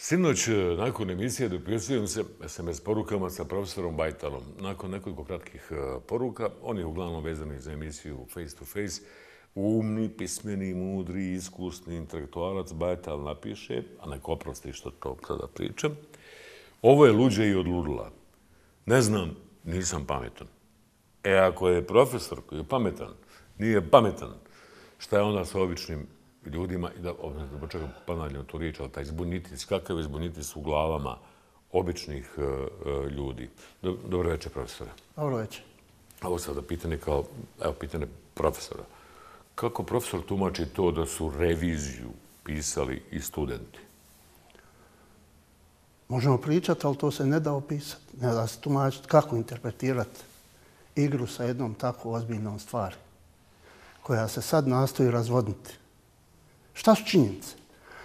Sinoć, nakon emisije, dopisujem se SMS porukama sa profesorom Bajtalom. Nakon nekoliko kratkih poruka, on je uglavnom vezani za emisiju Face to Face, umni, pismeni, mudri, iskusni intelektualac Bajtal napiše, a neko oprosti što to sada pričam, ovo je luđe i od ludila. Ne znam, nisam pametan. Ako je profesor koji je pametan, nije pametan, šta je onda sa običnim ljudima, i da počekam ponavljam tu riječ, ali taj zbunitis, kakav je zbunitis u glavama običnih ljudi. Dobro večer, profesore. Dobro večer. Ovo sada pitanje kao, evo, pitanje profesora. Kako profesor tumači to da su reviziju pisali i studenti? Možemo pričati, ali to se ne da opisati. Ne da se tumačiti kako interpretirati igru sa jednom tako ozbiljnom stvari koja se sad nastoji razvodniti. Šta su činjenice?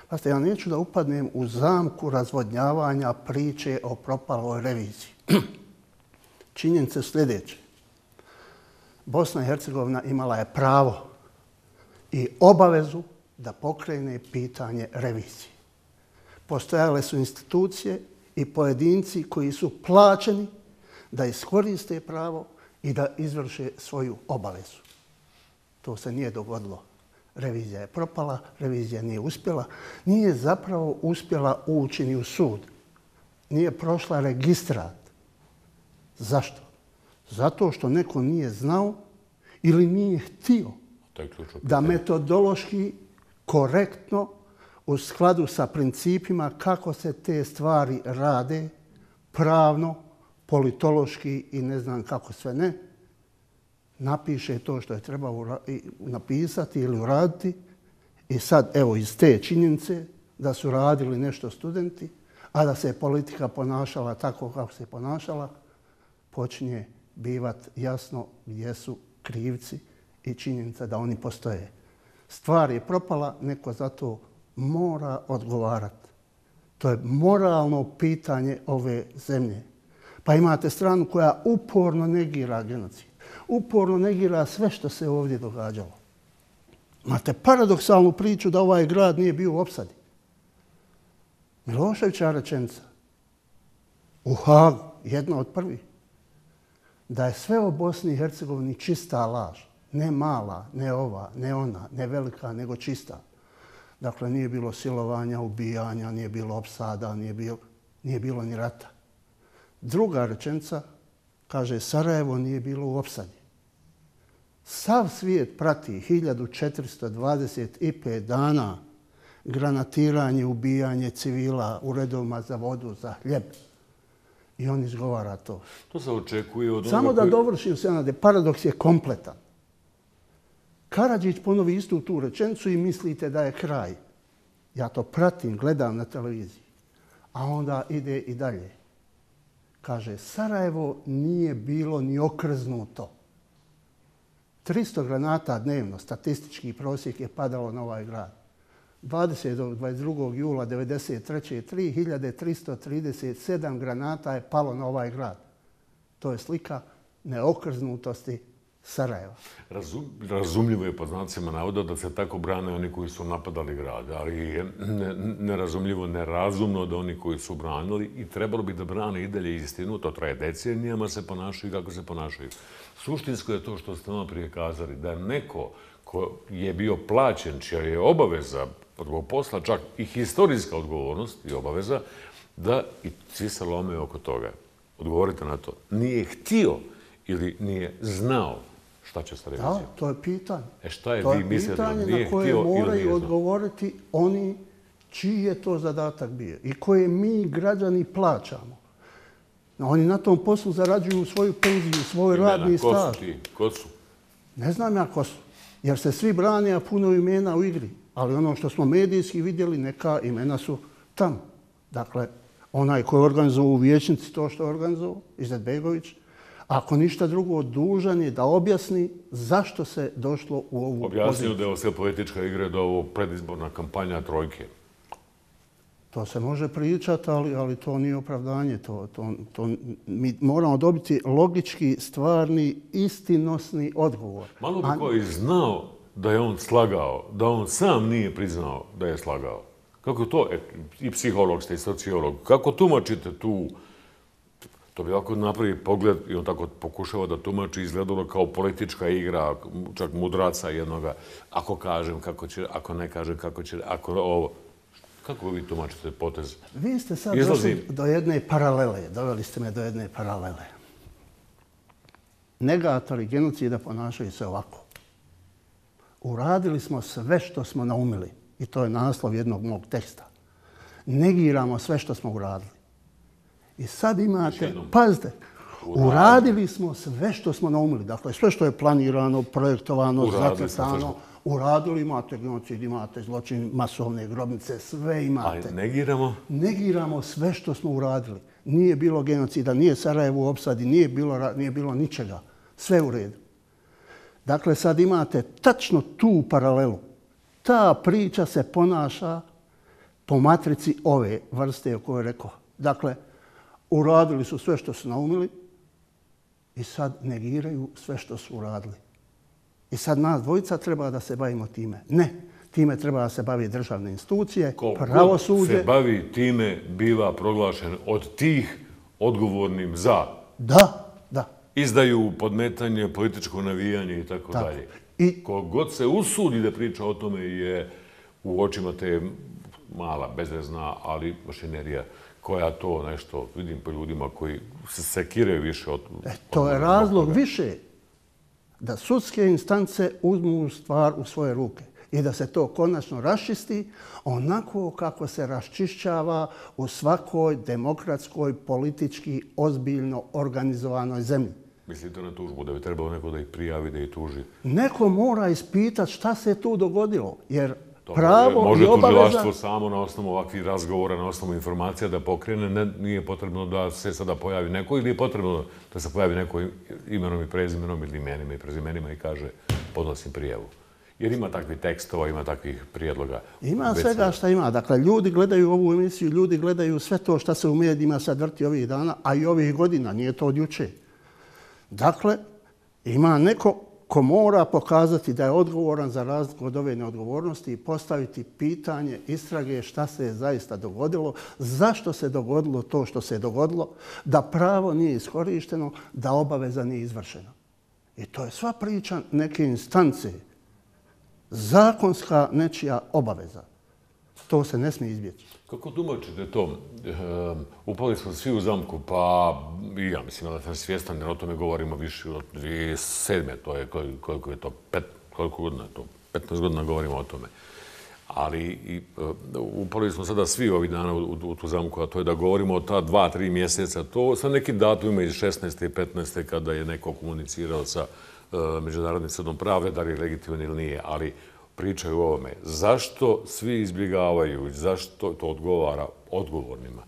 Pazite, ja neću da upadnem u zamku razvodnjavanja priče o propaloj reviziji. Činjenice su sljedeće. Bosna i Hercegovina imala je pravo i obavezu da pokrene pitanje revizije. Postojale su institucije i pojedinci koji su plaćeni da iskoriste pravo i da izvrše svoju obavezu. To se nije dogodilo. Revizija je propala, revizija nije uspjela. Nije zapravo uspjela ući ni u sud. Nije prošla registrat. Zašto? Zato što neko nije znao ili nije htio da metodološki, korektno, u skladu sa principima kako se te stvari rade, pravno, politološki i ne znam kako sve ne, napiše to što je trebao napisati ili uraditi i sad, evo, iz te činjenice da su radili nešto studenti, a da se politika ponašala tako kako se ponašala, počinje bivat jasno gdje su krivci i činjenica da oni postoje. Stvar je propala, neko za to mora odgovarati. To je moralno pitanje ove zemlje. Pa imate stranu koja uporno negira genocid. Uporno negira sve što se ovdje događalo. Imate paradoksalnu priču da ovaj grad nije bio u opsadi. Miloševića rečenica u Hagu, jedna od prvih, da je sve o Bosni i Hercegovini čista laž. Ne mala, ne ova, ne ona, ne velika, nego čista. Dakle, nije bilo silovanja, ubijanja, nije bilo opsada, nije bilo ni rata. Druga rečenica kaže Sarajevo nije bilo u opsadi. Sav svijet prati 1425 dana granatiranje, ubijanje civila u redovima za vodu, za hljeb. I on izgovara to. To se očekuje od onoga samo da dovršim se, paradoks je kompletan. Karadžić ponovi istu tu rečenicu i mislite da je kraj. Ja to pratim, gledam na televiziji. A onda ide i dalje. Kaže, Sarajevo nije bilo ni okrznuto. 300 granata dnevno, statistički prosjek je padalo na ovaj grad. 20. do 22. jula 1993. 3337 granata je palo na ovaj grad. To je slika neokrznutosti Sarajeva. Razumljivo je po znacima navoda da se tako brane oni koji su napadali grad, ali je nerazumljivo, nerazumno da oni koji su branili i trebalo bi da brane i dalje istinu, to traje decenijama, se ponašaju kako se ponašaju. Suštinsko je to što ste nama prije kazali, da neko ko je bio plaćen, čija je obaveza od posla, čak i historijska odgovornost i obaveza, da i svi se lome oko toga. Odgovorite na to. Nije htio ili nije znao šta će sa revizijom? Da, to je pitanje. Šta je vi mislite da nije htio ili nije znao? To je pitanje na koje moraju odgovoriti oni čiji je to zadatak bio i koje mi građani plaćamo. Oni na tom poslu zarađuju svoju penziju, svoj radni staž. Ko su ti? Ko su? Ne znam ja ko su. Jer se svi brane, a puno imena u igri. Ali ono što smo medijski vidjeli, neka imena su tamo. Dakle, onaj koji je organizovao u vijećnici to što je organizovao, Izetbegović, ako ništa drugo, dužan je da objasni zašto se došlo u ovu poziciju. Objasnio da je ovo sve politička igra, da je ovo predizborna kampanja trojke. To se može pričati, ali to nije opravdanje. Mi moramo dobiti logički, stvarni, istinosni odgovor. Malo bi koji znao da je on slagao, da on sam nije priznao da je slagao. Kako to, i psiholog ste i sociolog, kako tumačite tu, to bi ovako napravi pogled i on tako pokušava da tumači, izgledalo kao politička igra, čak mudraca jednoga, ako kažem kako će, ako ne kažem kako će, ako ovo. Kako vi tumačite potez? Vi ste sad došli do jedne paralele, doveli ste me do jedne paralele. Negatori genocida ponašaju se ovako. Uradili smo sve što smo naumili. I to je naslov jednog mog teksta. Negiramo sve što smo uradili. I sad imate, pazite, uradili smo sve što smo naumili. Dakle, sve što je planirano, projektovano, zacrtano, uradili, imate genocid, imate zločin, masovne grobnice, sve imate. A negiramo? Negiramo sve što smo uradili. Nije bilo genocida, nije Sarajevo u opsadi, nije bilo ničega. Sve u redu. Dakle, sad imate tačno tu paralelu. Ta priča se ponaša po matrici ove vrste o kojoj rekao. Dakle, uradili su sve što su naumili i sad negiraju sve što su uradili. I sad nas dvojica treba da se bavimo time. Ne, time treba da se bavi državne institucije, pravosuđe. Ko se bavi time biva proglašen od tih odgovornim za. Da. Izdaju, podmetanje, političko navijanje i tako dalje. I kogod se usudi da priča o tome je u očima te mala, bezvezna, ali mašinerija koja to nešto, vidim po ljudima koji se sekiraju više od... To je razlog više da sudske instance uzmu stvar u svoje ruke i da se to konačno raščisti onako kako se raščišćava u svakoj demokratskoj, politički, ozbiljno organizovanoj zemlji. Mislite na tužbu, da bi trebalo neko da ih prijavi, da ih tuži? Neko mora ispitati šta se tu dogodilo, jer pravo i obaveza... Može tužilaštvo samo na osnovu ovakvih razgovora, na osnovu informacija da pokrene, nije potrebno da se sada pojavi neko ili je potrebno da se pojavi neko imenom i prezimenom ili imenima i prezimenima i kaže podnosim prijavu. Jer ima takvih tekstova, ima takvih prijedloga. Ima svega šta ima. Dakle, ljudi gledaju ovu emisiju, ljudi gledaju sve to što se u medijima sad vrti ovih dana, a i ovih godina, nije to od juče. Dakle, ima neko ko mora pokazati da je odgovoran za razliku od ove neodgovornosti i postaviti pitanje istrage šta se je zaista dogodilo, zašto se dogodilo to što se je dogodilo, da pravo nije iskorišteno, da obaveza nije izvršena. I to je sva priča neke instance, zakonska nečija obaveza. To se ne smije izbjeći. Kako tumačite to? Upali smo svi u zamku, pa i ja mislim da sam svjestan, jer o tome govorimo više od 2007. To je, koliko je to, koliko godina je to? 15 godina govorimo o tome. Ali upali smo sada svi ovih dana u tu zamku, a to je da govorimo o ta 2-3 mjeseca. To sa nekim datumima iz 16. i 15. kada je neko komunicirao sa Međunarodnim sudom pravde, da li je legitiman ili nije, ali pričaju o ovome. Zašto svi izbjegavaju, zašto to odgovara odgovornima?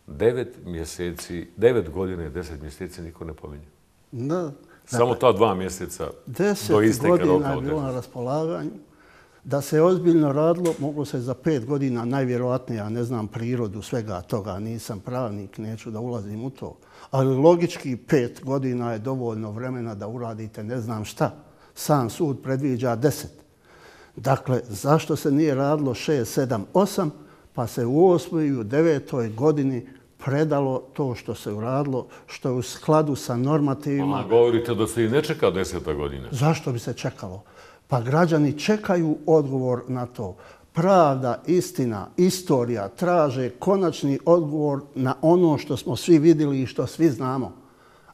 9 godina i 10 mjeseci niko ne pominje. Da. Samo ta 2 mjeseca do isteka roka. 10 godina je bilo na raspolaganju. Da se ozbiljno radilo, moglo se za 5 godina, najvjerojatnije, ja ne znam prirodu svega toga, nisam pravnik, neću da ulazim u to. Ali logički 5 godina je dovoljno vremena da uradite ne znam šta. Sam sud predviđa 10. Dakle, zašto se nije radilo 6, 7, 8, pa se u 8. i u 9. godini predalo to što se uradilo, što je u skladu sa normativima. Govorite da se i ne čeka 10. godina. Zašto bi se čekalo? Pa građani čekaju odgovor na to. Pravda, istina, istorija traže konačni odgovor na ono što smo svi vidjeli i što svi znamo.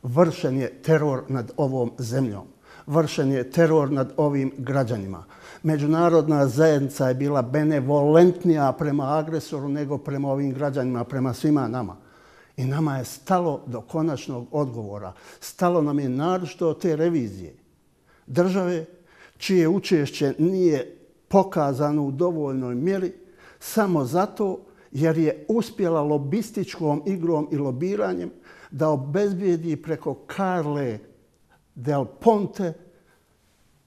Vršen je teror nad ovom zemljom. Vršen je teror nad ovim građanima. Međunarodna zajednica je bila benevolentnija prema agresoru nego prema ovim građanima, prema svima nama. I nama je stalo do konačnog odgovora. Stalo nam je naročito od te revizije. Države čije učešće nije pokazano u dovoljnoj mjeri samo zato jer je uspjela lobističkom igrom i lobiranjem da obezbijedi preko Carle Del Ponte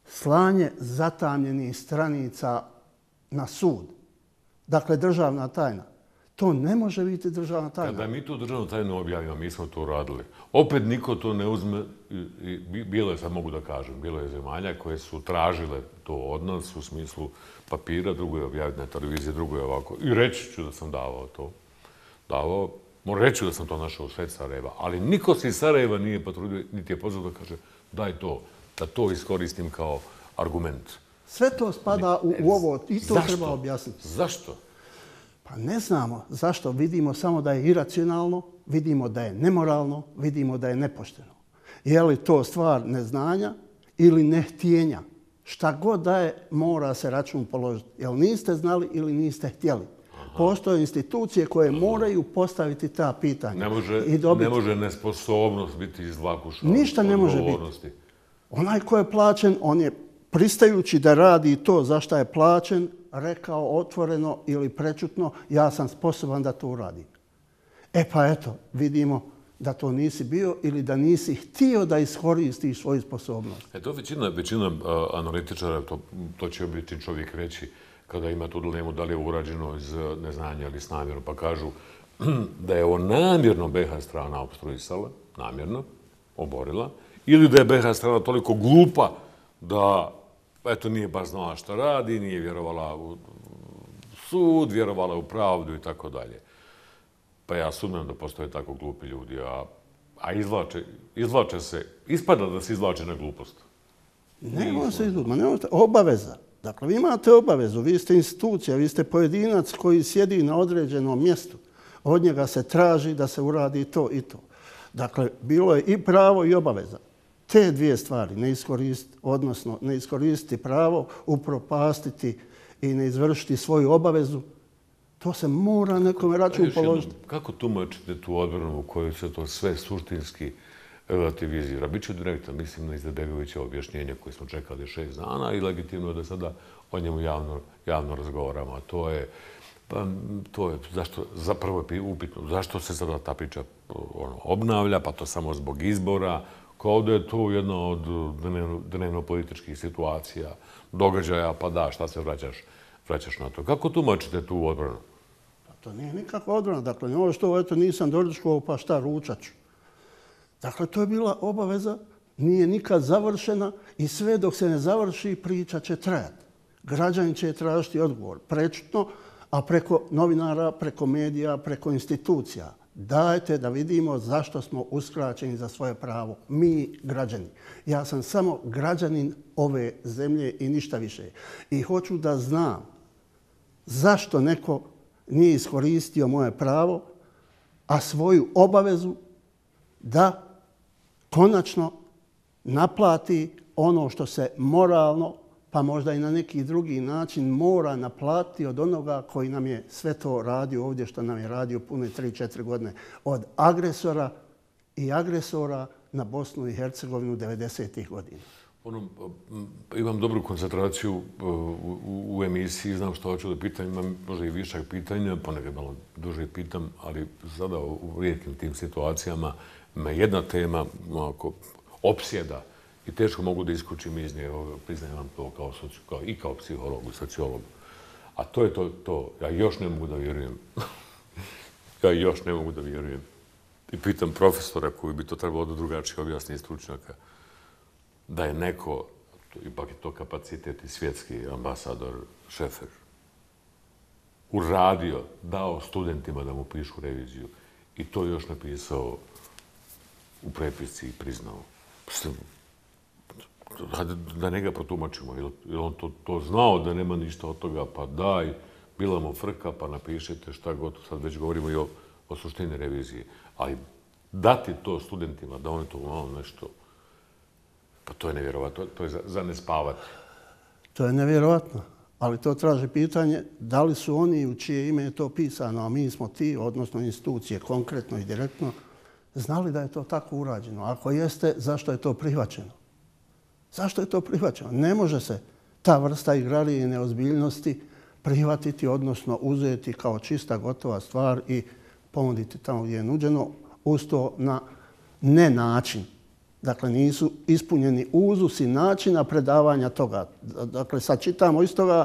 slanje zatamljenih stranica na sud. Dakle, državna tajna. To ne može biti državna tajna. Kada mi tu državnu tajnu objavimo, mi smo to uradili. Opet niko to ne uzme, bilo je, sad mogu da kažem, bilo je zemalja koje su tražile to od nas u smislu papira, drugo je objaviti na televiziji, drugo je ovako. I reći ću da sam davao to. Moram reći da sam to našao u sred Sarajeva, ali niko se iz Sarajeva nije potrudio, niti je pozvao da kaže daj to, da to iskoristim kao argument. Sve to spada u ovo i to treba objasniti. Zašto? Pa ne znamo zašto. Vidimo samo da je iracionalno, vidimo da je nemoralno, vidimo da je nepošteno. Je li to stvar neznanja ili nehtjenja? Šta god da je, mora se račun položiti. Jel niste znali ili niste htjeli? Postoje institucije koje moraju postaviti ta pitanja. Ne može nesposobnost biti iz vakuša. Ništa ne može biti. Onaj ko je plaćen, on je pristajući da radi to za šta je plaćen, rekao otvoreno ili prečutno, ja sam sposoban da to uradim. E pa eto, vidimo da to nisi bio ili da nisi htio da iskoristiš svoju sposobnost. To većina analitičara, to će obični čovjek reći, kada ima tu dilemu da li je urađeno iz neznanja ili s namjerom, pa kažu da je ovo namjerno BiH strana opstruisala, namjerno, oborila, ili da je BiH strana toliko glupa da eto, nije baš znala šta radi, nije vjerovala u sud, vjerovala u pravdu i tako dalje. Pa ja sumnjam da postoje tako glupi ljudi, a izvlače se, ispada da se izvlače na glupost. Nema se izvlače, obaveza. Dakle, vi imate obavezu, vi ste institucija, vi ste pojedinac koji sjedi na određenom mjestu. Od njega se traži da se uradi to i to. Dakle, bilo je i pravo i obaveza. Te dvije stvari, ne iskoristiti pravo, upropastiti i ne izvršiti svoju obavezu, to se mora nekome račun položiti. Kako tumačite tu odbranu u kojoj se to sve suštinski relativizira? Biću direktan, mislim na Izetbegovića objašnjenje koje smo čekali 6 dana i legitimno je da sada o njemu javno razgovaramo. A to je zapravo je upitno, zašto se sada ta priča obnavlja, pa to samo zbog izbora, kao da je to jedna od dnevno-političkih situacija, događaja, pa da, šta se vraćaš na to. Kako tumačite tu odbranu? To nije nikakva odbrana. Dakle, ovo što eto, nisam doručkovao, pa šta, ručat ću. Dakle, to je bila obaveza, nije nikad završena i sve dok se ne završi, priča će trajati. Građani će tražiti odgovor prečutno, a preko novinara, preko medija, preko institucija. Dajte da vidimo zašto smo uskraćeni za svoje pravo. Mi, građani. Ja sam samo građanin ove zemlje i ništa više. I hoću da znam zašto neko nije iskoristio moje pravo, a svoju obavezu da konačno naplati ono što se moralno, pa možda i na neki drugi način mora naplatiti od onoga koji nam je sve to radio ovdje što nam je radio pune 3-4 godine. Od agresora i agresora na Bosnu i Hercegovinu 90-ih godina. Imam dobru koncentraciju u emisiji, znam što hoću da pitam, imam možda i višak pitanja, ponekad malo duže pitam, ali sada u rijetkim tim situacijama me jedna tema opsjeda i teško mogu da iskučim iz nje, priznajem vam to i kao psihologu, sociologu. A to je to, ja još ne mogu da vjerujem. I pitam profesora koji bi to trebalo da drugačije objasni stručnjaka, da je neko, ipak je to kapacitet i svjetski ambasador Šefer, uradio, dao studentima da mu pišu reviziju i to još napisao u prepisci i priznao. Da ne ga protumačimo, jer on to znao da nema ništa od toga, pa daj, bila mu frka, pa napišite šta god, sad već govorimo i o suštini revizije. Ali dati to studentima, da oni to malo nešto, pa to je nevjerovatno, to je za ne spavati. To je nevjerovatno, ali to traži pitanje da li su oni u čije ime je to pisano, a mi smo ti, odnosno institucije, konkretno i direktno, znali da je to tako urađeno. Ako jeste, zašto je to prihvaćeno? Zašto je to prihvaćeno? Ne može se ta vrsta igrarije i neozbiljnosti prihvatiti, odnosno uzeti kao čista, gotova stvar i ponuditi tamo gdje je nuđeno, uz to na nenačin. Dakle, nisu ispunjeni uzusi načina predavanja toga. Dakle, sad čitamo iz toga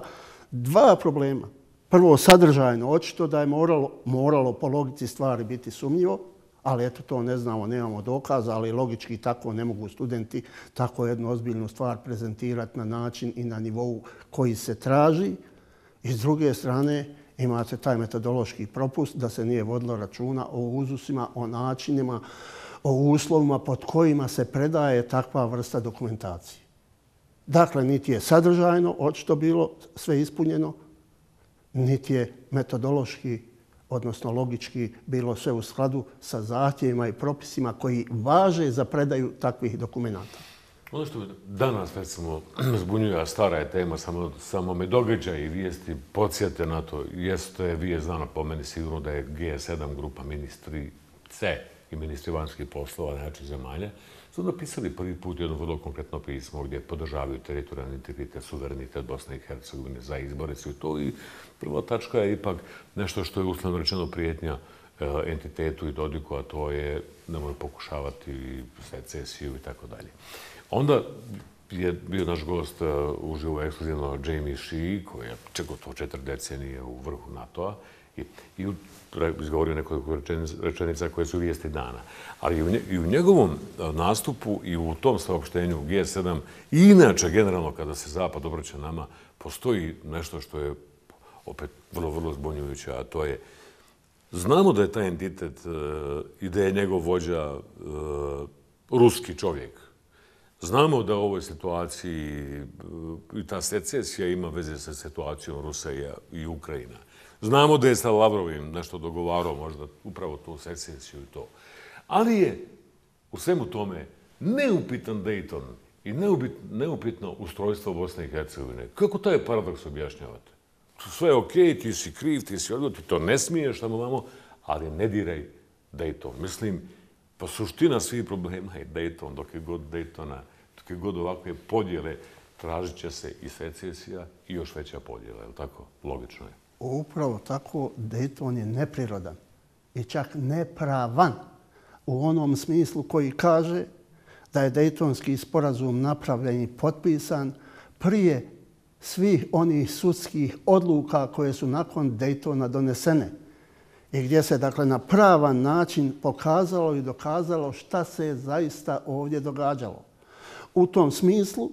dva problema. prvo sadržajno, očito da je moralo po logici stvari biti sumnjivo, ali eto to ne znamo, nemamo dokaza, ali logički tako ne mogu studenti tako jednu ozbiljnu stvar prezentirati na način i na nivou koji se traži. I s druge strane imate taj metodološki propust da se nije vodilo računa o uzusima, o načinima, o uslovima pod kojima se predaje takva vrsta dokumentacije. Dakle, niti je sadržajno očito bilo sve ispunjeno, niti je metodološki, odnosno logički, bilo sve u skladu sa zahtjevima i propisima koji važe za predaju takvih dokumenta. Ono što me danas, recimo, zbunjuje, a stara je tema, samo me događa i vijesti podsjete na to, jeste vijest znana po meni sigurno da je G7 grupa ministri C i ministri vanjskih poslova najjačih zemalja, su napisali prvi put jedno vrlo konkretno pismo gdje podržavaju teritorijalni integritet, suverenitet Bosne i Hercegovine za izbore su i to. I prva tačka je ipak nešto što je uslovno rečeno prijetnja entitetu i Dodiku, a to je nemoj pokušavati secesiju i tako dalje. Onda je bio naš gost uživo ekskluzivno Jamie Shea, koji je gotovo 4 decenije u vrhu NATO-a i izgovorio nekoliko rečenica koje su vijesti dana. Ali i u njegovom nastupu i u tom saopštenju G7, i inače generalno kada se Zapad obraća nama, postoji nešto što je opet vrlo, vrlo zbunjujuće, a to je znamo da je taj entitet i da je njegov vođa ruski čovjek. Znamo da u ovoj situaciji i ta secesija ima veze sa situacijom Rusija i Ukrajina. Znamo da je sa Lavrovim nešto dogovarao, možda upravo tu secesiju i to. Ali je u svemu tome neupitan Dayton i neupitno ustrojstvo Bosne i Hercegovine. Kako taj paradoks objašnjavate? Sve je okej, ti si kriv, ti si odgovoran, ti to ne smiješ, tamo vamo, ali ne diraj Dayton. Mislim, pa suština svih problema je Dayton, dok je god Daytona, dok je god ovakve podjele, tražit će se i secesija i još veća podjela, je li tako? Logično je. Upravo tako, Dayton je neprirodan i čak nepravan u onom smislu koji kaže da je Daytonski sporazum napravljen i potpisan prije svih onih sudskih odluka koje su nakon Daytona donesene i gdje se dakle na pravan način pokazalo i dokazalo šta se zaista ovdje događalo. U tom smislu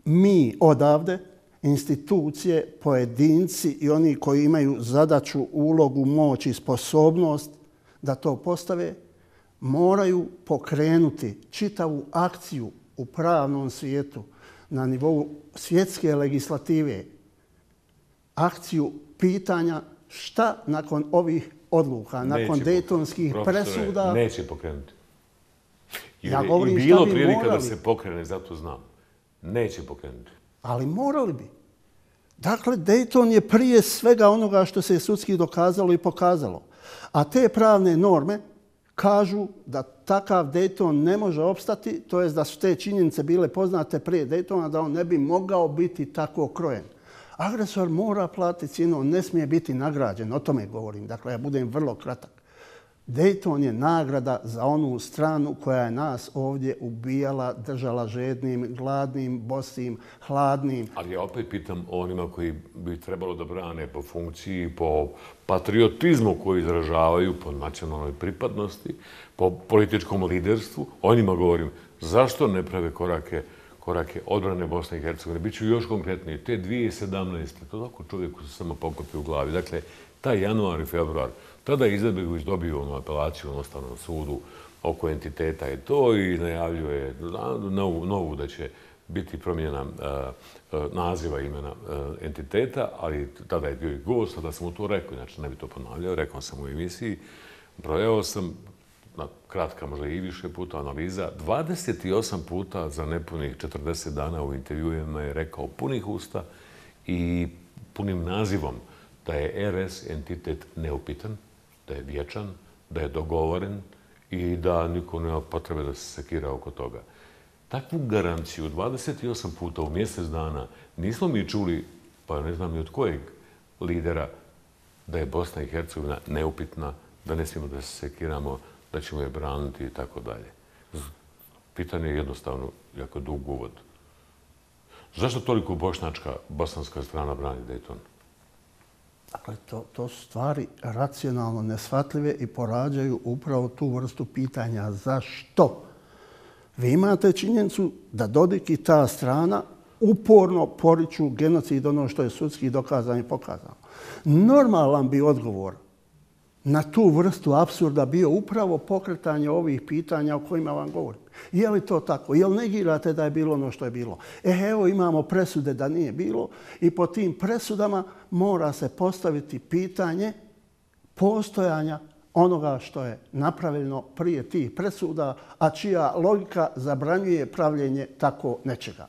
mi odavde, institucije, pojedinci i oni koji imaju zadaću, ulogu, moć i sposobnost da to postave, moraju pokrenuti čitavu akciju u pravnom svijetu na nivou svjetske legislative, akciju pitanja šta nakon ovih odluka, nakon Daytonskih presuda... Neće pokrenuti. Ja govorim šta bi morali. I bilo prilika da se pokrene, zato znam. Neće pokrenuti. Ali morali bi. Dakle, Dayton je prije svega onoga što se sudski dokazalo i pokazalo. A te pravne norme kažu da takav Dayton ne može opstati, to jest da su te činjenice bile poznate prije Daytona, da on ne bi mogao biti tako krojen. Agresor mora platiti cijenu, on ne smije biti nagrađen, o tome govorim. Dakle, ja budem vrlo kratak. Dayton je nagrada za onu stranu koja je nas ovdje ubijala, držala žednim, gladnim, bosim, hladnim. Ali ja opet pitam onima koji bi trebalo da brane po funkciji, po patriotizmu koji izražavaju, po nacionalnoj pripadnosti, po političkom liderstvu. O njima govorim, zašto ne prave korake odbrane Bosne i Hercegovine? Biću još konkretniji. Te 2017. to tako čovjeku se samo pokopi u glavi. Dakle, taj januar i februar, tada je Izetbegović dobio apelaciju na Ustavnom sudu oko entiteta i to i najavljuje novu da će biti promjena naziva imena entiteta, ali tada je bio i gost, tada sam mu to rekao, inače ne bi to ponavljao, rekao sam u emisiji, brojao sam, kratka možda i više puta analiza, 28 puta za nepunih 40 dana u intervjuima je rekao punih usta i punim nazivom da je RS entitet neupitan, da je vječan, da je dogovoren i da niko nema potrebe da se sekira oko toga. Takvu garanciju 28 puta u mjesec dana nismo mi čuli, pa ne znam ni od kojeg lidera, da je Bosna i Hercegovina neupitna, da ne smijemo da se sekiramo, da ćemo je braniti i tako dalje. Pitanje je jednostavno jako dug uvod. Zašto toliko bošnjačka, bosanska strana brani Dayton? Dakle, to su stvari racionalno neshvatljive i porađaju upravo tu vrstu pitanja. Zašto? Vi imate činjenicu da Dodik i ta strana uporno poriču genocid, ono što je sudski dokazano i pokazano. Normalan bi odgovor na tu vrstu apsurda bio upravo pokretanje ovih pitanja o kojima vam govorim. Je li to tako? Je li negirate da je bilo ono što je bilo? Evo imamo presude da nije bilo i po tim presudama mora se postaviti pitanje postojanja onoga što je napravljeno prije tih presuda, a čija logika zabranjuje pravljenje tako nečega.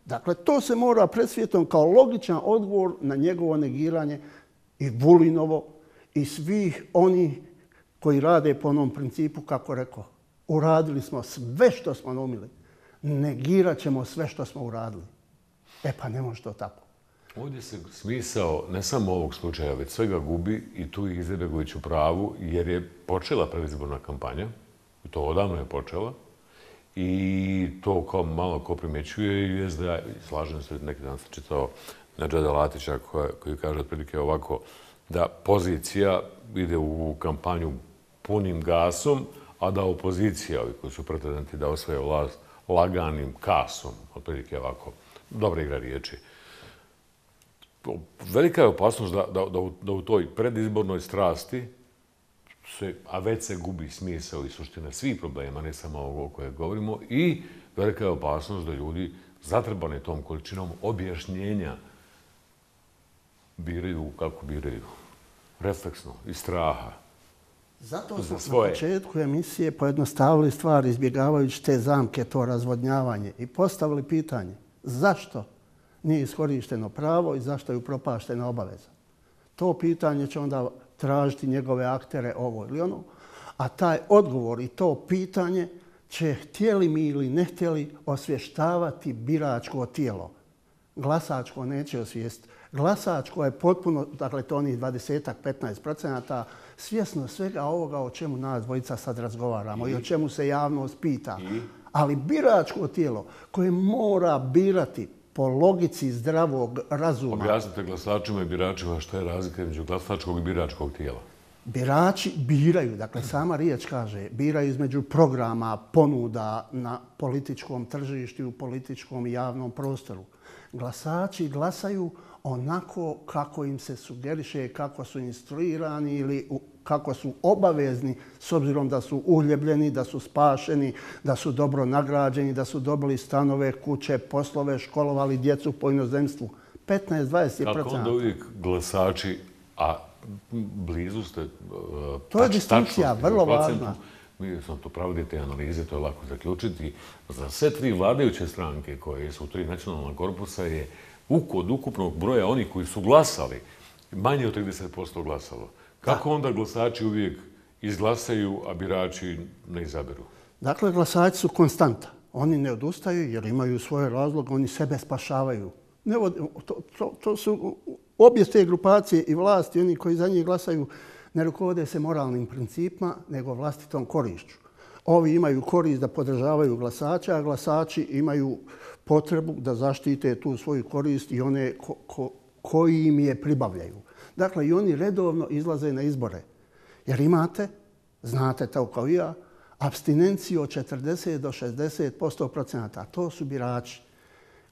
Dakle, to se mora pred svijetom kao logičan odgovor na njegovo negiranje i Vulinovo i svih onih koji rade po onom principu, kako rekao, uradili smo sve što smo naumili, negirat ćemo sve što smo uradili. Pa ne može to tako. Ovdje se smisao ne samo ovog slučaja, već svega gubi i tu je Izetbegović u pravu, jer je počela predizborna kampanja, to odavno je počela, i to kao malo ko primjećuje i SDA, slažem se, neki dan sam čitao Nedžada Latića koji kaže otprilike ovako, da pozicija ide u kampanju punim gasom, a da opozicija, ovi koji su pretendenti da osvoje vlast, laganim kasom, otprilike ovako, dobra igra riječi. Velika je opasnost da u toj predizbornoj strasti, a već se gubi smisao i suština svih problema, ne samo ovo o kojem govorimo, i velika je opasnost da ljudi zatrebani tom količinom objašnjenja biraju kako biraju. Refleksno, iz straha. Zato smo na početku emisije pojednostavili stvari izbjegavajući te zamke, to razvodnjavanje i postavili pitanje zašto nije iskorišteno pravo i zašto je upropaštena obaveza. To pitanje će onda tražiti njegove aktere ovo ili ono, a taj odgovor i to pitanje će, htjeli mi ili ne htjeli, osvještavati biračko tijelo. Glasačko neće osvijestiti. Glasačko je potpuno, dakle to onih 20-15%, svjesno svega ovoga o čemu nas dvojica sad razgovaramo i o čemu se javnost pita. Ali biračko tijelo koje mora birati po logici zdravog razuma. Objasnite glasačima i biračima što je razlika između glasačkog i biračkog tijela. Birači biraju, dakle sama riječ kaže, biraju između programa, ponuda na političkom tržištu, u političkom i javnom prostoru. Glasači glasaju onako kako im se sugeriše, kako su instruirani ili kako su obavezni s obzirom da su uhljebljeni, da su spašeni, da su dobro nagrađeni, da su dobili stanove, kuće, poslove, školovali djecu po inozemstvu. 15-20%. Kako onda uvijek glasači, a blizu ste... To je distinkcija, vrlo važna. Mi smo to pravili te analize, to je lako zaključiti. Za sve tri vladajuće stranke koje su tri nacionalna korpusa je od ukupnog broja onih koji su glasali, manje od 30% glasalo. Kako onda glasači uvijek izglasaju, a birači ne izaberu? Dakle, glasači su konstanta. Oni ne odustaju jer imaju svoje razloge, oni sebe spašavaju. To su obje te grupacije i vlasti, oni koji za njih glasaju, ne rukovode se moralnim principima, nego vlastitom korišću. Ovi imaju korist da podržavaju glasača, a glasači imaju potrebu da zaštite tu svoju korist i one koji im je pribavljaju. Dakle, i oni redovno izlaze na izbore. Jer imate, znate to kao i ja, apstinenciju od 40 do 60%. To su birači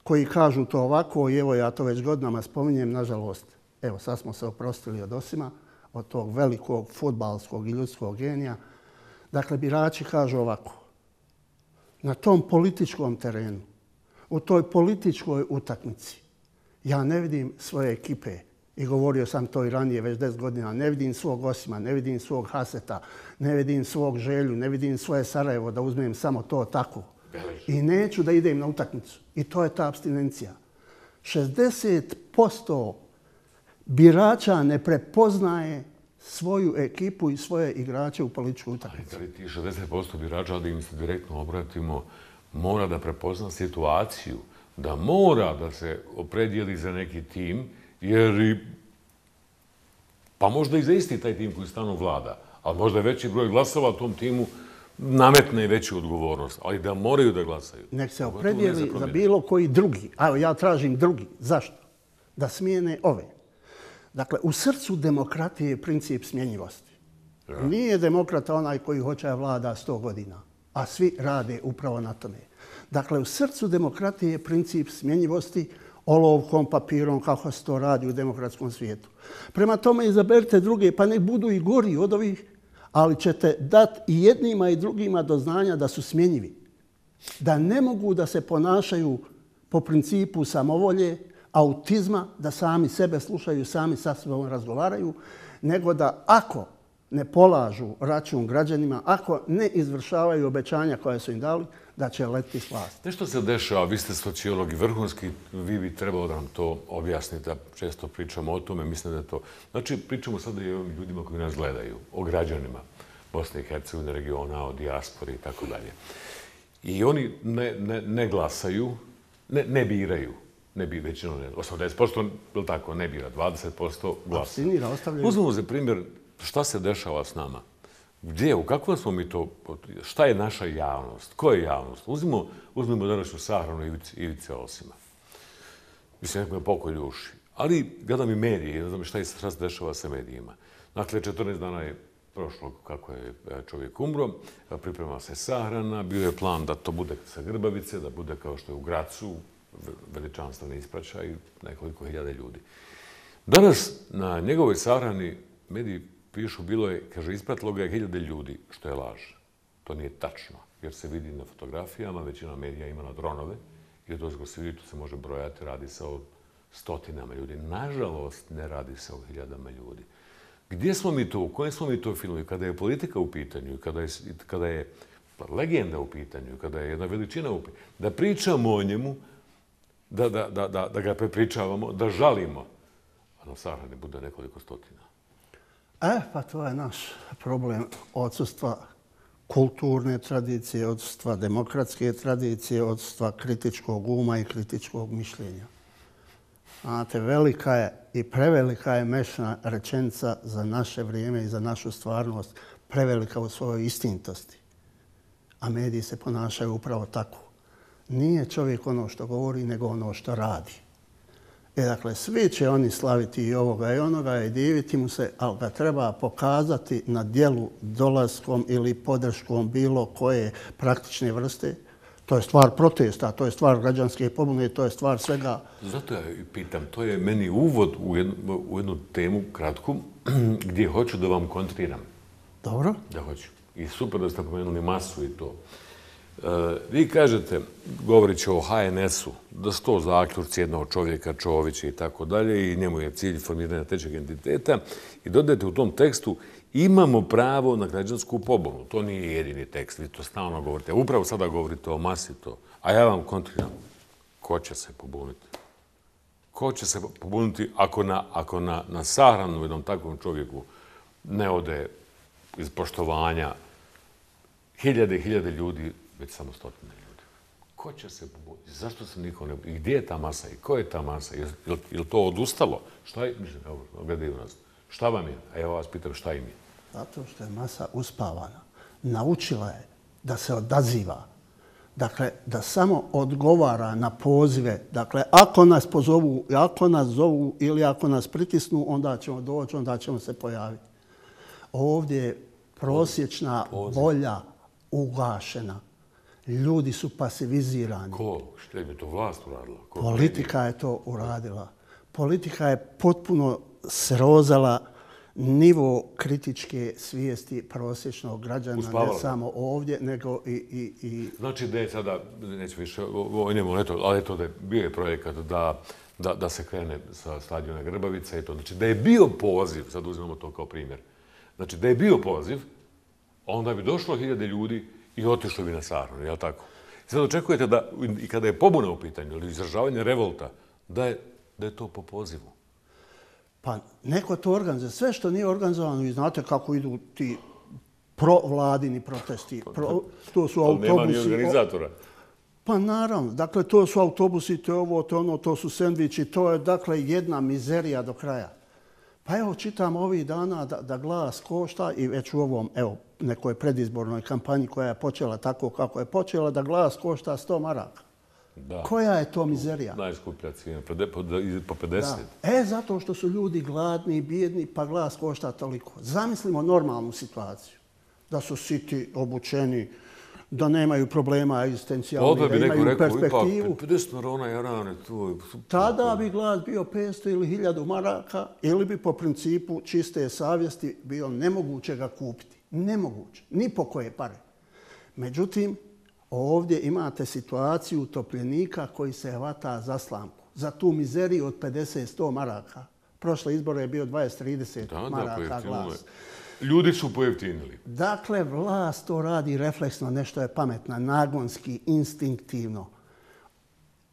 koji kažu to ovako i evo ja to već godinama spominjem, nažalost. Evo, sad smo se oprostili od Osima, od tog velikog fudbalskog i ljudskog genija. Dakle, birači kažu ovako. Na tom političkom terenu, u toj političkoj utakmici, ja ne vidim svoje ekipe. I govorio sam to i ranije, već 10 godina. Ne vidim svog Osima, ne vidim svog Haseta, ne vidim svog Želju, ne vidim svoje Sarajevo, da uzmem samo to tako. I neću da idem na utakmicu. I to je ta apstinencija. 60% birača ne prepoznaje svoju ekipu i svoje igrače u političkoj utakmici. Ali ti 60% birača, da im se direktno obratimo, mora da prepozna situaciju, da mora da se opredijeli za neki tim, jer pa možda i za isti taj tim koji stanu vlada, ali možda je veći broj glasova tom timu nametne veću odgovornost, ali da moraju da glasaju. Nek se opredijeli za bilo koji drugi. Evo, ja tražim drugi. Zašto? Da smijene ove. Dakle, u srcu demokratije je princip smjenjivosti. Nije demokrata onaj koji hoće da vlada 100 godina, a svi rade upravo na tome. Dakle, u srcu demokratije je princip smjenjivosti, olovkom, papirom, kako se to radi u demokratskom svijetu. Prema tome izaberite druge, pa nek budu i gori od ovih, ali ćete dati i jednima i drugima do znanja da su smjenjivi. Da ne mogu da se ponašaju po principu samovolje, autizma, da sami sebe slušaju, sami sa sobom razgovaraju, nego da ako ne polažu račun građanima, ako ne izvršavaju obećanja koja su im dali, da će letiti s vlasti. Nešto se dešava, vi ste sociolog i vrhunski, vi bi trebalo da nam to objasnite, da često pričamo o tome, mislim da je to... Znači, pričamo sada i o ljudima koji nas gledaju, o građanima Bosne i Hercegovine, regiona, o dijaspori i tako dalje. I oni ne glasaju, ne biraju, većinom ne, 80%, ili tako, ne bira, 20% glasa. Uzmemo za primjer šta se dešava s nama. Gdje, u kakvom smo mi to, šta je naša javnost, ko je javnost? Uzmimo današnju sahranu Ivice Osima. Mislim, neko je pokoj uši. Ali gledam i medije, ne znam šta se dešava sa medijima. Dakle, 14 dana je prošlo kako je čovjek umro, priprema se sahrana, bio je plan da to bude sa Grbavice, da bude kao što je u Gracu, veličanstveni ispraćaj, nekoliko hiljada ljudi. Danas na njegovoj sahrani mediji pišu, bilo je, kaže, ispratilo ga je 1000 ljudi, što je laž. To nije tačno, jer se vidi na fotografijama, većina medija ima na dronove, i dozgo se vidi, tu se može brojati, radi se o stotinama ljudi. Nažalost, ne radi se o 1000 ljudi. Gdje smo mi to, u kojem smo mi to filmu, kada je politika u pitanju, kada je legenda u pitanju, kada je jedna veličina u pitanju, da pričamo o njemu, da ga prepričavamo, da žalimo, a na sahrani bude nekoliko stotina. Pa to je naš problem odsustva kulturne tradicije, odsustva demokratske tradicije, odsustva kritičkog uma i kritičkog mišljenja. Znate, velika je i prevelika je mešna rečenica za naše vrijeme i za našu stvarnost, prevelika u svojoj istinitosti. A mediji se ponašaju upravo tako. Nije čovjek ono što govori, nego ono što radi. Dakle, svi će oni slaviti i ovoga i onoga i diviti mu se, ali ga treba pokazati na djelu dolaskom ili podrškom bilo koje praktične vrste. To je stvar protesta, to je stvar građanske pobune, to je stvar svega. Zato ja pitam, to je meni uvod u jednu temu kratku gdje hoću da vam kontriram. Dobro. Da hoću. I super da ste pomenuli masu i to. Vi kažete, govoreći o HNS-u, da su to zaključci jednog čovjeka, Čovića i tako dalje, i njemu je cilj formiranja trećeg entiteta, i dodajete u tom tekstu imamo pravo na građansku pobunu. To nije jedini tekst, vi to stalno govorite. Upravo sada govorite o masi to. A ja vam kontriram, ko će se pobuniti? Ko će se pobuniti ako na sahranu jednom takvom čovjeku ne ode iz poštovanja hiljade i hiljade ljudi, već samo stotine ljudi? Ko će se pobuniti? Zašto se niko ne... I gdje je ta masa? I ko je ta masa? Je li to odustalo? Šta je? Evo, gledaju nas. Šta vam je? A ja vas pitam šta im je? Zato što je masa uspavana. Naučila je da se odaziva. Dakle, da samo odgovara na pozive. Dakle, ako nas pozovu, ako nas zovu ili ako nas pritisnu, onda ćemo doći, onda ćemo se pojaviti. Ovdje je prosječna volja ugašena. Ljudi su pasivizirani. Ko? Što je to vlast uradila? Politika je to uradila. Politika je potpuno srozala nivo kritičke svijesti prosječnog građana, ne samo ovdje, nego i... Znači da je sada, neću više, ali eto da je bio je projekat da se krene sa stadiona Grbavica i to. Znači da je bio poziv, sad uzmemo to kao primjer, znači da je bio poziv, onda bi došlo 1000 ljudi i otišlo bi na sahranu, jel' tako? Sad očekujete da, i kada je pobuna u pitanju, ili izražavanje revolta, da je to po pozivu. Pa neko to organizuje. Sve što nije organizovano, vi znate kako idu ti provladini protesti. To su autobusi. Nema ni organizatora. Pa naravno. Dakle, to su autobusi, to je ovo, to ono, to su sendviči. To je, dakle, jedna mizerija do kraja. Pa evo, čitam ovih dana da glas košta i već u ovom, evo, nekoj predizbornoj kampanji koja je počela tako kako je počela, da glas košta 100 maraka. Da. Koja je to mizerija? Najskuplja cijena, po 50. Da. Zato što su ljudi gladni i bijedni, pa glas košta toliko. Zamislimo normalnu situaciju. Da su siti, obučeni, da nemaju problema egzistencijalnih, da imaju perspektivu. Ipak 50 marona jarane, to... Tada bi glas bio 500 ili 1000 maraka ili bi po principu čiste savjesti bio nemoguće ga kupiti. Nemoguće. Ni po koje pare. Međutim, ovdje imate situaciju utopljenika koji se hvata za slamku. Za tu mizeriju od 50-100 maraka. Prošle izbore je bio 20-30 maraka glas. Ljudi su pojeftinili. Dakle, vlast to radi refleksno, nešto je pametna, nagonski, instinktivno.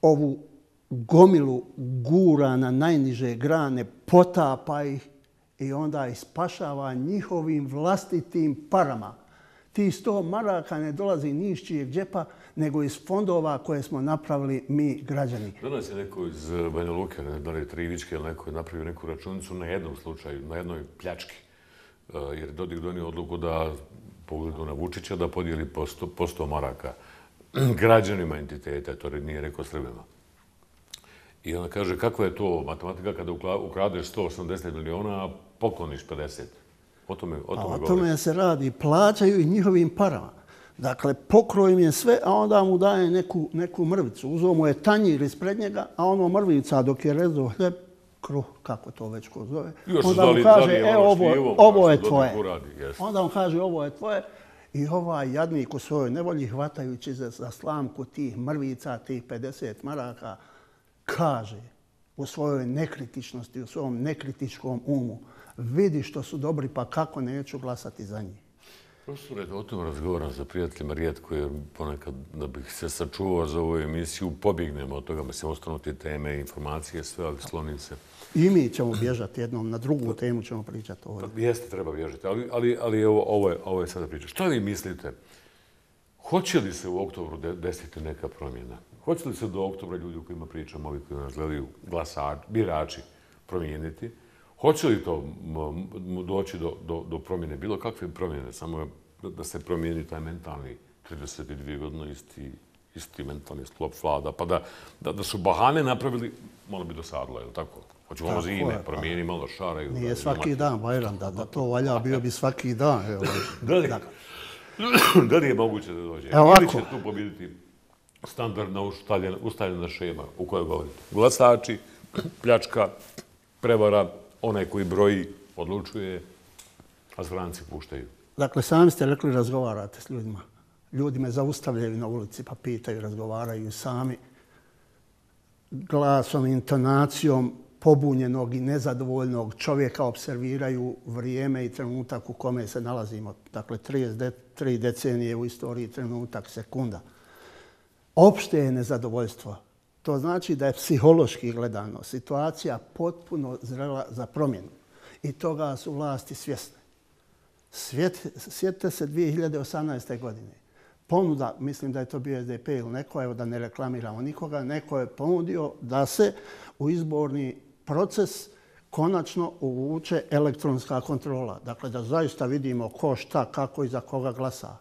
Ovu gomilu gura na najniže grane, potapa ih i onda ih spašava njihovim vlastitim parama. Ti 100 maraka ne dolazi ni iz čijeg džepa, nego iz fondova koje smo napravili mi građani. Danas je neko iz Banja Luke, da li je Trivičke ili neko je napravio neku računicu na jednom slučaju, na jednoj pljački. Jer Dodik donio odluku da, pogledu na Vučića, da podijeli po 100 maraka građanima entiteta, to nije rekao Srbima. I ona kaže, kakva je to matematika kada ukradeš 180 miliona, a pokloniš 50? O tome se radi. Plaćaju i njihovim parama. Dakle, pokroj im je sve, a onda mu daje neku mrvicu. Uzeo mu je tanjir ispred njega, a ono mrvica dok je rezao hljeb, kruh, kako to već ko zove. Onda mu kaže, ovo je tvoje. Onda mu kaže, ovo je tvoje. I ovaj jadnik u svojoj nevolji, hvatajući za slamku tih mrvica, tih 50 maraka, kaže u svojoj nekritičnosti, u svom nekritičkom umu, vidi što su dobri, pa kako neću glasati za njih. Profesore, o tom razgovaram sa prijateljima rijetko, jer ponekad da bih se sačuvao za ovu emisiju, pobjegnemo od toga, mislim, ostanu ti teme, informacije, sve, ali sklonim se. I mi ćemo bježati jednom, na drugu temu ćemo pričati ovdje. Jeste, treba bježati, ali ovo je sada priča. Šta vi mislite? Hoće li se u oktobru desiti neka promjena? Hoće li se do oktobra ljudi u kojima pričamo, ovi koji nas gledaju, birači, promijeniti? Hoće li to doći do promjene, bilo kakve promjene, samo da se promijeni taj mentalni 32 godine isti mentalni sklop vlada, pa da su bahane napravili, malo bi dosadilo, je li tako? Hoću malo zime, promijeni malo šaraju. Nije svaki dan, Bajram, da to valja, bio bi svaki dan. Da li je moguće da dođe? Ili će tu pobjediti standardna ustaljena šema u kojoj govorite? Glasači, pljačka, prevara, onaj koji broji, odlučuje, a stranci puštaju. Dakle, sami ste rekli razgovarate s ljudima. Ljudi me zaustavljaju na ulici pa pitaju, razgovaraju sami glasom, intonacijom pobunjenog i nezadovoljnog čovjeka observiraju vrijeme i trenutak u kome se nalazimo. Dakle, 33 decenije u istoriji, trenutak, sekunda. Opšte je nezadovoljstvo. To znači da je psihološki gledano situacija potpuno zrela za promjenu. I toga su vlasti svjesne. Sjetite se 2018. godine. Ponuda, mislim da je to bio SDP ili neko, evo da ne reklamiramo nikoga, neko je ponudio da se u izborni proces konačno uvuče elektronska kontrola. Dakle, da zaista vidimo ko, šta, kako i za koga glasa.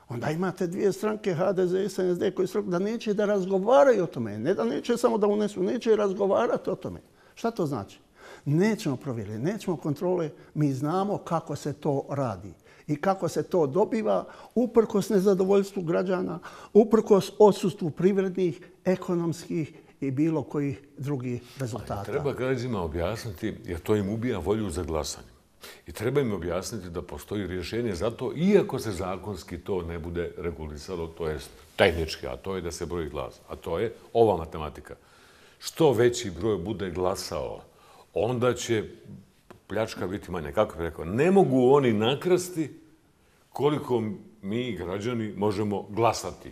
Onda imate dvije stranke, HDZ i SNSD, koji su da neće da razgovaraju o tome. Ne da neće samo da unesu, neće razgovarati o tome. Šta to znači? Nećemo provjeriti, nećemo kontrole. Mi znamo kako se to radi i kako se to dobiva uprkos nezadovoljstvu građana, uprkos odsustvu privrednih, ekonomskih i bilo kojih drugih rezultata. Treba građanima objasniti, jer to im ubija volju za glasanje. I treba im objasniti da postoji rješenje za to, iako se zakonski to ne bude regulisalo, to je tehnički, a to je da se broji glas. A to je ova matematika. Što veći broj bude glasao, onda će pljačka biti manja. Kako bih rekao, ne mogu oni nakrasti koliko mi, građani, možemo glasati.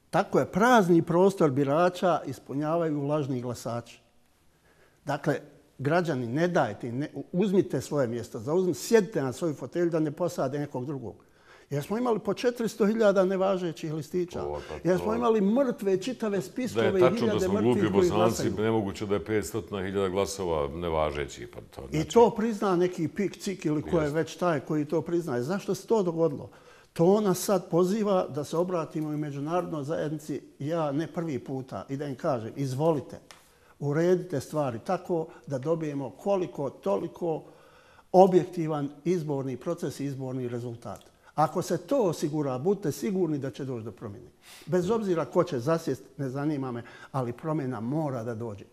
Tako je, prazni prostor birača ispunjavaju lažni glasači. Dakle, građani, ne dajte, uzmite svoje mjesto, sjedite na svoju fotelju da ne posade nekog drugog. Jer smo imali po 400.000 nevažećih listića. Jer smo imali mrtve, čitave spiskove i hiljade mrtvih koji glasaju. Da je tačno da smo glupi Bosanci, nemoguće da je 500.000 glasova nevažećih. I to prizna neki pik, cik ili ko je već taj koji to priznaje. Zašto se to dogodilo? To nas sad poziva da se obratimo i međunarodnoj zajednici. Ja ne prvi puta i da im kažem, izvolite, uredite stvari tako da dobijemo koliko toliko objektivan izborni proces i izborni rezultat. Ako se to osigura, budite sigurni da će doći do promjene. Bez obzira ko će zasjest, ne zanima me, ali promjena mora da dođe.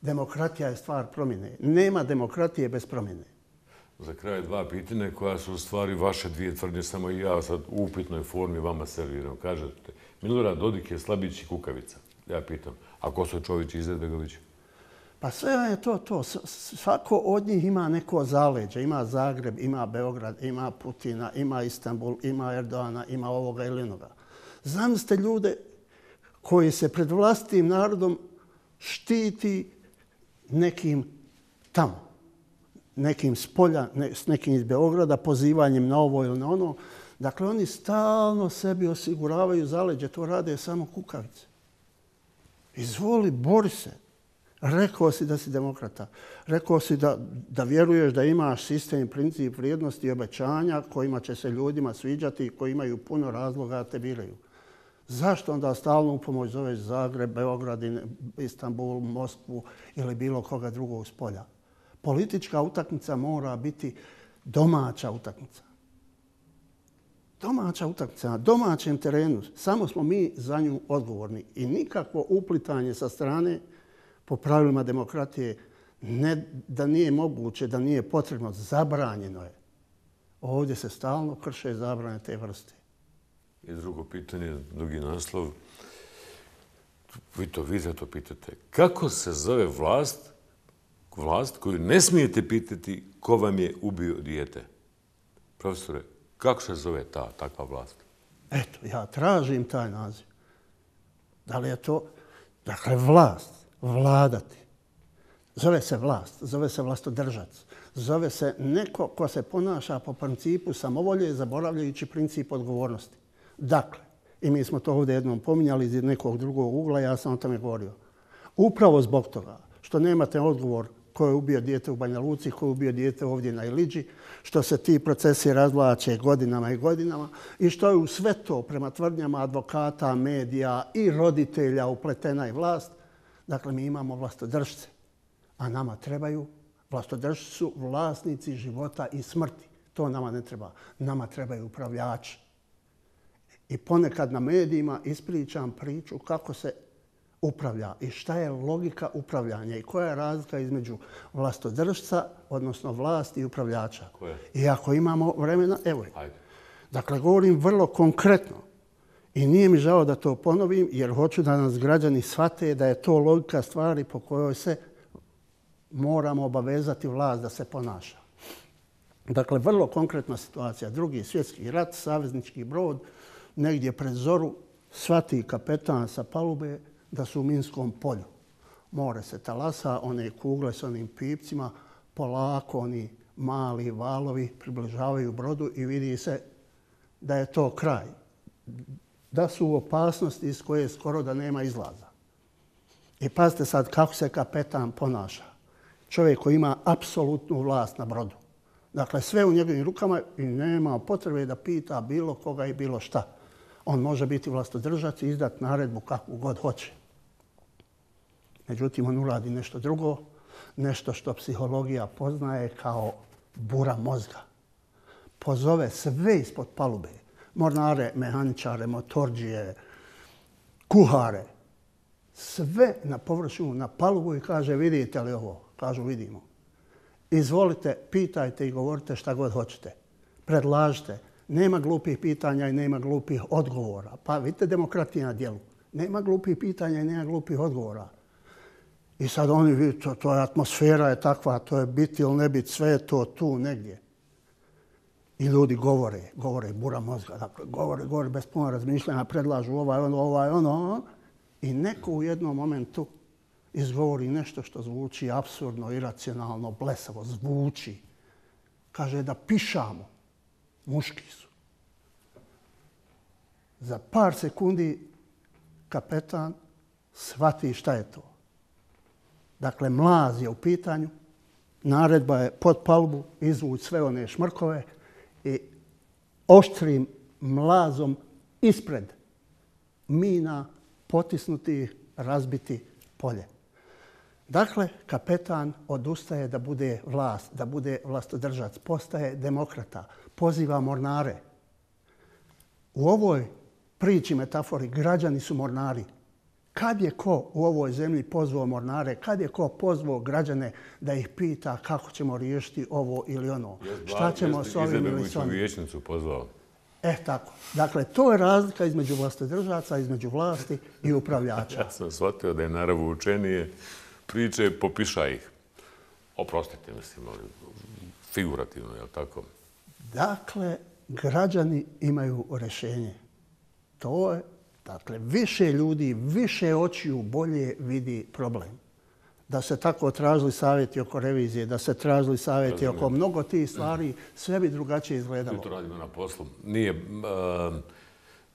Demokratija je stvar promjene. Nema demokratije bez promjene. Za kraj dva pitanja koja su u stvari vaše dvije tvrdnje, samo i ja sad u upitnoj formi vama serviram. Kažete, Milorad Dodik je slabić i kukavica. Ja pitam, a ko su Čović i Izetbegović? Pa sve je to. Svako od njih ima neko zaleđe. Ima Zagreb, ima Beograd, ima Putina, ima Istanbul, ima Erdoana, ima ovoga ili onoga. Zamislite ljude koji se pred vlastitim narodom štiti nekim tamo, nekim s polja, s nekim iz Beograda, pozivanjem na ovo ili na ono. Dakle, oni stalno sebi osiguravaju zaleđe. To rade samo kukavice. Izvoli, bori se. Rekao si da si demokrata. Rekao si da vjeruješ da imaš sistem, princip, vrijednosti i obećanja kojima će se ljudima sviđati i koji imaju puno razloga da te biraju. Zašto onda stalno u pomoć zoveš Zagreb, Beograd, Istanbul, Moskvu ili bilo koga drugog s polja? Politička utakmica mora biti domaća utakmica. Domaća utakmica na domaćem terenu. Samo smo mi za nju odgovorni. I nikakvo uplitanje sa strane po pravilima demokratije ne da nije moguće, da nije potrebno, zabranjeno je. Ovdje se stalno krše zabrane te vrste. I drugo pitanje, drugi naslov. Vi za to pitate. Kako se zove vlast koju ne smijete pitati ko vam je ubio dijete? Profesore, kako se zove takva vlast? Eto, ja tražim taj naziv. Da li je to, dakle, vlast, vladati. Zove se vlast, zove se vlastodržac. Zove se neko ko se ponaša po principu samovolje, zaboravljajući princip odgovornosti. Dakle, i mi smo to ovdje jednom pominjali iz nekog drugog ugla, ja sam o tome govorio. Upravo zbog toga što nemate odgovor ko je ubio dijete u Banja Luci, ko je ubio dijete ovdje na Iliđi, što se ti procesi razvlače godinama i godinama i što je u sve to prema tvrdnjama advokata, medija i roditelja upletena i vlast. Dakle, mi imamo vlastodržce, a nama trebaju, vlastodržci su vlasnici života i smrti. To nama ne treba. Nama trebaju upravljači. I ponekad na medijima ispričam priču kako se upravlja i šta je logika upravljanja i koja je razlika između vlastodržca, odnosno vlasti i upravljača. I ako imamo vremena, evo je. Dakle, govorim vrlo konkretno i nije mi žao da to ponovim jer hoću da nas građani shvate da je to logika stvari po kojoj se moramo obavezati vlast da se ponaša. Dakle, vrlo konkretna situacija. Drugi svjetski rat, saveznički brod, negdje pred zoru shvati kapetan sa palube da su u minskom polju. More se talasa, one kugle s onim pipcima, polako oni mali valovi približavaju brodu i vidi se da je to kraj. Da su u opasnosti iz koje skoro da nema izlaza. I pazite sad kako se kapetan ponaša. Čovjek koji ima apsolutnu vlast na brodu. Dakle, sve u njegovim rukama i nema potrebe da pita bilo koga i bilo šta. On može biti vlastodržac i izdati naredbu kakvu god hoće. Međutim, on uradi nešto drugo, nešto što psihologija poznaje kao bura mozga. Pozove sve ispod palube, mornare, mehaničare, motorđije, kuhare, sve na površinu, na palubu i kaže vidite li ovo? Kažu vidimo. Izvolite, pitajte i govorite šta god hoćete. Predlažite. Nema glupih pitanja i nema glupih odgovora. Pa vidite demokratija na djelu. Nema glupih pitanja i nema glupih odgovora. I sad oni vidite, to je atmosfera je takva, to je biti ili ne biti, sve je to tu negdje. I ljudi govore, bura mozga. Dakle, govore bez puno razmišljanja, predlažu ovaj ono. I neko u jednom momentu izgovori nešto što zvuči apsurdno, iracionalno, blesavo, zvuči. Kaže da pišamo. Muški su. Za par sekundi kapetan shvati šta je to. Dakle, mlaz je u pitanju, naredba je pod palubu, izvući sve one šmrkove i oštrim mlazom ispred mina potisnuti, razbiti polje. Dakle, kapetan odustaje da bude vlast, da bude vlastodržac, postaje demokrata, poziva mornare. U ovoj priči, metafori, građani su mornari. Kad je ko u ovoj zemlji pozvao mornare, kad je ko pozvao građane da ih pita kako ćemo riješiti ovo ili ono, šta ćemo s ovim ili s onim. Vijećnicu pozvao. Tako. Dakle, to je razlika između vlastodržaca, između vlasti i upravljača. Ja sam shvatio da je narav učenije priče, popiša ih. Oprostite, mislim, ali figurativno, je li tako? Dakle, građani imaju rješenje. To je, dakle, više ljudi, više očiju bolje vidi problem. Da se tako tražili savjeti oko revizije, da se tražili savjeti oko mnogo tih stvari, sve bi drugačije izgledalo. Mi to radimo na poslu. Nije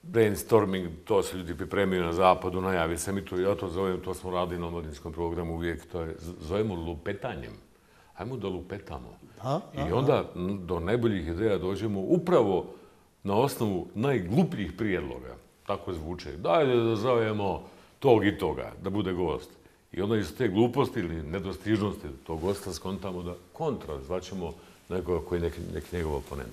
brainstorming, to se ljudi pripremaju na zapadu, najavi se mi to, ja to zovem, to smo radili na omladinskom programu uvijek, to je, zovemo lupetanjem. Hajmo da lupetamo. I onda do najboljih ideja dođemo upravo na osnovu najglupljih prijedloga. Tako zvuče. Dajde da zovemo tog i toga, da bude gost. I onda iz te gluposti ili nedostižnosti tog gosta skontamo da kontra zvaćemo nekoga koji je neki njegov oponent.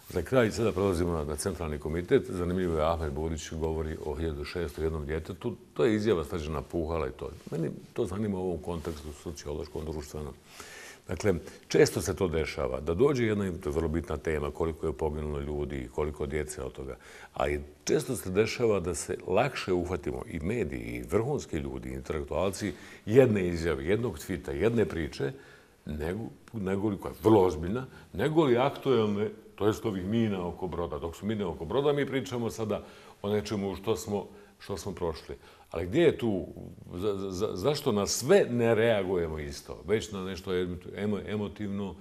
Za kraj sada prelazimo na centralni komitet. Zanimljivo je Ahmed Budić govori o 1601 djetetu. To je izjava Srđana Puhala i to. Meni to zanima u ovom kontekstu sociološkom, društvenom. Dakle, često se to dešava da dođe jedna, to je vrlo bitna tema, koliko je poginulo ljudi, koliko djece od toga, ali često se dešava da se lakše uhvatimo i mediji, i vrhunski ljudi, i intelektualci jedne izjave, jednog tvita, jedne priče, nego li, koja je vrlo ozbiljna, nego li aktuelne, to jest ovih mina oko broda. Dok su mine oko broda, mi pričamo sada o nečemu što smo prošli. Ali gdje je tu, zašto na sve ne reagujemo isto? Već na nešto emotivno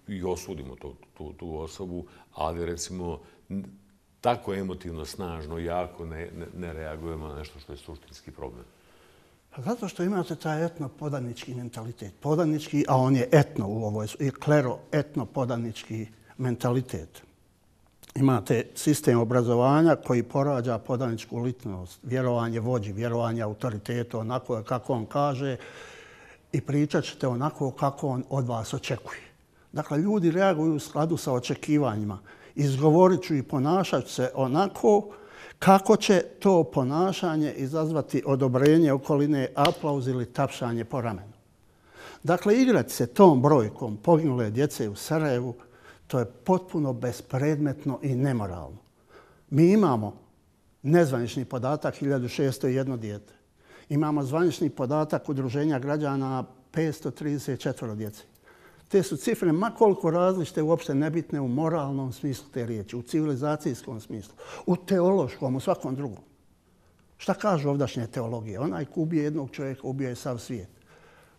i osudimo tu osobu, ali recimo tako emotivno, snažno, jako ne reagujemo na nešto što je suštinski problem. Pa zato što imate taj etno-podanički mentalitet. Podanički, a on je etno u ovoj, i klero-etno-podanički mentalitet. Imate sistem obrazovanja koji porađa podaničku ličnost, vjerovanje vođi, vjerovanje autoritetu, onako kako on kaže i pričat ćete onako kako on od vas očekuje. Dakle, ljudi reaguju u skladu sa očekivanjima. Izgovorit ću i ponašat se onako kako će to ponašanje izazvati odobrenje okoline, aplauz ili tapšanje po ramenu. Dakle, igrati se tom brojkom poginule djece u Sarajevu, to je potpuno bespredmetno i nemoralno. Mi imamo nezvanični podatak 1601 dijete. Imamo zvanični podatak Udruženja građana 534 djece. Te su cifre makoliko različite, uopšte nebitne u moralnom smislu te riječi, u civilizacijskom smislu, u teološkom, u svakom drugom. Šta kažu ovdašnje teologije? Onaj ko ubije jednog čovjeka, ubio je sav svijet.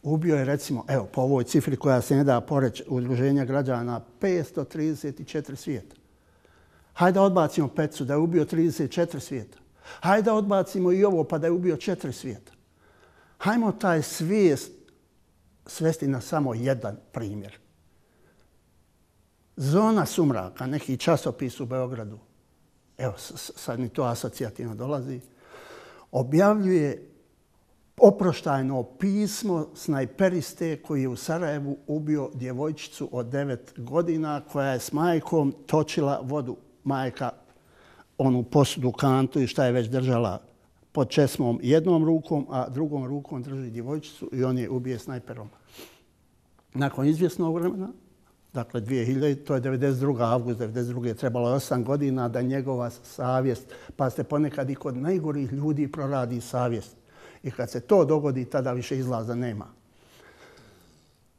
Ubio je, recimo, evo, po ovoj cifri koja se ne da poreći Udruženja građana, 534 svijeta. Hajde da odbacimo Pecu da je ubio 34 svijeta. Hajde da odbacimo i ovo pa da je ubio 4 svijeta. Hajmo taj svijest svesti na samo jedan primjer. Zona sumraka, neki časopis u Beogradu, evo sad mi to asocijativno dolazi, objavljuje oproštajno pismo snajperiste koji je u Sarajevu ubio djevojčicu od 9 godina koja je s majkom točila vodu. Majka onu posudu, kantu i šta je već držala pod česmom jednom rukom, a drugom rukom drži djevojčicu i on je ubije snajperom. Nakon izvjesnog vremena, dakle 2000, to je 92. avgust 92. trebalo je 8 godina da njegova savjest, pa ste ponekad i kod najgorih ljudi proradi savjest. I kad se to dogodi, tada više izlaza nema.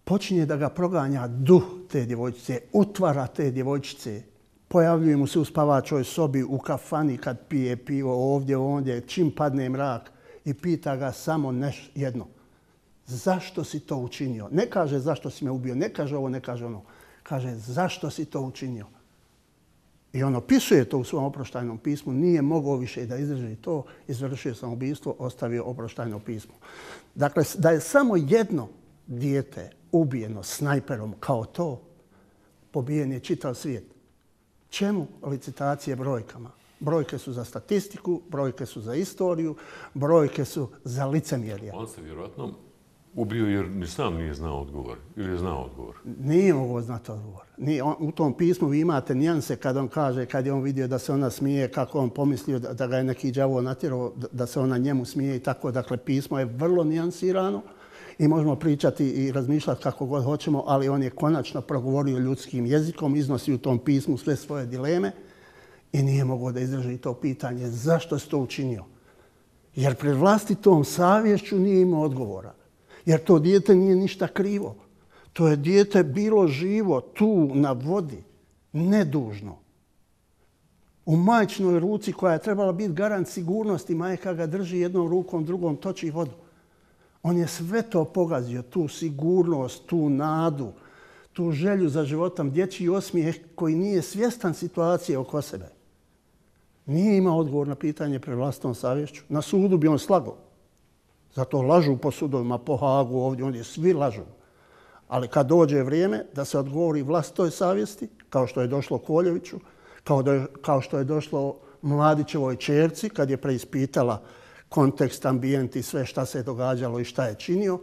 Počinje da ga proganja duh te djevojčice, utvara te djevojčice. Pojavljuje mu se u spavačoj sobi, u kafani kad pije pivo, ovdje, ondje, čim padne mrak i pita ga samo jedno. Zašto si to učinio? Ne kaže zašto si me ubio, ne kaže ovo, ne kaže ono. Kaže zašto si to učinio? I on opisuje to u svom oproštajnom pismu, nije mogao više da izdrži to, izvršio samoubistvo, ostavio oproštajno pismo. Dakle, da je samo jedno dijete ubijeno snajperom kao to, pobijen je čitav svijet. Čemu licitacije brojkama? Brojke su za statistiku, brojke su za istoriju, brojke su za licemjerje. On se vjerojatno ubio jer ni sam nije znao odgovor. Ili je znao odgovor? Nije mogao znati odgovor. U tom pismu vi imate nijanse kad on kaže, kad je on vidio da se ona smije, kako on pomislio da ga je neki đavo natjerao, da se ona njemu smije i tako. Dakle, pismo je vrlo nijansirano i možemo pričati i razmišljati kako god hoćemo, ali on je konačno progovorio ljudskim jezikom, iznosi u tom pismu sve svoje dileme i nije mogao da izdrži to pitanje zašto si to učinio. Jer pred vlastitom savješću nije imao odgovora. Jer to dijete nije ništa krivo. To je dijete bilo živo tu na vodi, nedužno. U majčinoj ruci koja je trebala biti garant sigurnosti, majka ga drži jednom rukom, drugom toči vodu. On je sve to pogazio, tu sigurnost, tu nadu, tu želju za životom, dječji osmijeh koji nije svjestan situacije oko sebe. Nije imao odgovor na pitanje pred vlastitom savješću. Na sudu bi on slagao. Zato lažu po sudovima, po Hagu, ovdje svi lažu. Ali kad dođe vrijeme da se odgovori vlastitoj savjesti, kao što je došlo Koljeviću, kao što je došlo Mladićevoj ćerci, kad je preispitala kontekst, ambijent i sve šta se je događalo i šta je činio,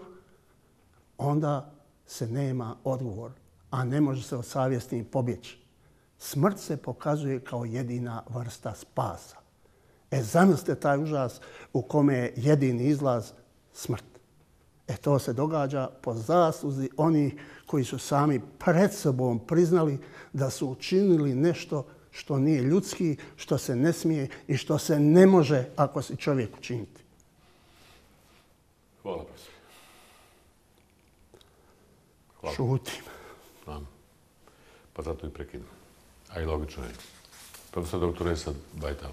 onda se nema odgovor, a ne može se od savjesti pobjeći. Smrt se pokazuje kao jedina vrsta spasa. Zamislite taj užas u kome je jedini izlaz smrt. To se događa po zasluzi onih koji su sami pred sobom priznali da su učinili nešto što nije ljudski, što se ne smije i što se ne može ako si čovjek učiniti. Hvala, profesor. Hvala. Šutim. Znam. Pa zato i prekidam. A i logično je. Profesor dr. Esad Bajtal.